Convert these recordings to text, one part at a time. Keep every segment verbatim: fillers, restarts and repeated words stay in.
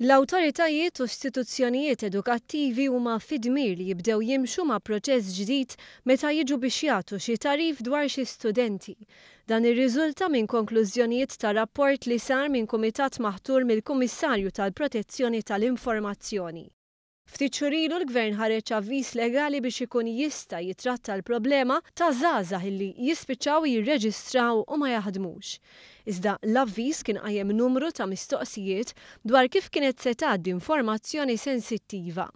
L-awtoritajiet u istituzzjonijiet edukattivi huma fid-dmir li jibdew jimxu ma' proċess ġdid meta jiġu biex jagħtu xi tagħrif dwar xi studenti. Dan irriżulta minn konklużjonijiet ta' rapport li sar minn kumitat maħtur mill-Kummissarju tal-Protezzjoni tal-Informazzjoni. Ftit xhur ilu l-Gvern ħareġ avviż legali biex ikun jista' jitratta l-problema ta' żgħażagħ illi jispiċċaw jirreġistraw u ma jaħdmux. Iżda l-avviż kien qajjem numru ta' mistoqsijiet dwar kif kienet se tgħaddi informazzjoni sensittiva.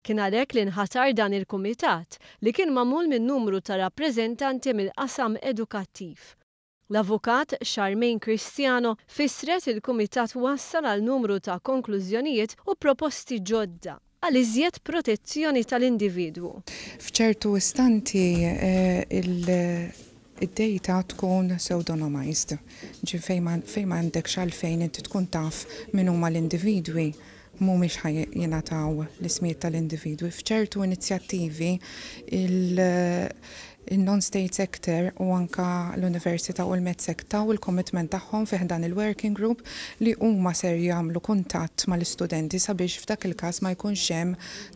Kien għalhekk li nħatar dan il-kumitat li kien magħmul minn numru ta' rappreżentanti mill-qasam edukattiv. L-Avukat Charmaine Cristiano fissret il-kumitat wassal għal numru ta' konklużjonijiet u proposti ġodda għal iżjed protezzjoni tal-individwu. F'ċertu istanti eh, id-data tkun pseudonymized, ġi fejn ma għandekx għalfejn inti tkun taf min huma l-individwi, mhumiex ħa jingħataw l-ismijiet tal-individwi. F'ċertu inizjattivi il-non-state sector u anka l-Università u l-MedSec taw il-commitment tagħhom fi dan il-working group li huma ser jagħmlu kuntatt mal-istudenti sabiex f'dak il-każ ma jkunx hemm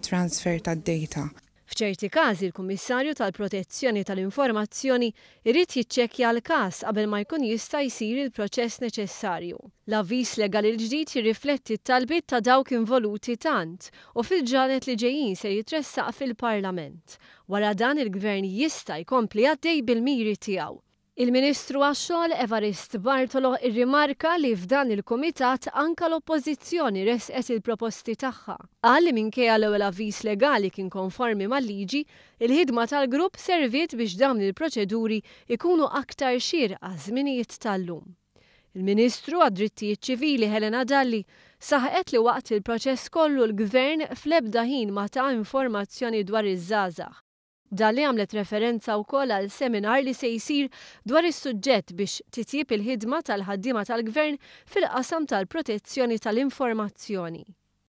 transfer tad-data. F'ċerti każi l-Kummissarju tal-Protezzjoni tal-Informazzjoni irid jiċċekkja l-każ qabel ma jkun jista' jsir il-proċess neċessarju. L-avviż legali l-ġdid jirrifletti t-talbiet ta' dawk involuti tant u fil-ġranet li ġejjin se jitressaq fil-Parlament. Wara dan, il-Gvern jista' jkompli għaddej bil-miri tiegħu. Il-Ministru għax-Xogħol Evarist Bartolo irrimarka li f'dan il-kumitat anka l-Oppożizzjoni resqet il-proposti tagħha. Qal li minkejja l-ewwel avviż legali kien konformi mal-liġi, il-ħidma tal-grupp serviet biex dawn il-proċeduri ikunu aktar xierqa żminijiet tal-lum. Il-Ministru għad-Drittijiet Ċivili Helena Dalli saħqet li waqt il-proċess kollu l-Gvern fl-ebda ħin ma ta informazzjoni dwar iż-żgħażagħ. Dalli għamlet referenza wkoll għal seminar li se jsir dwar is-suġġett biex titjib il-ħidma tal-ħaddiema tal-Gvern fil-qasam tal-protezzjoni tal-informazzjoni.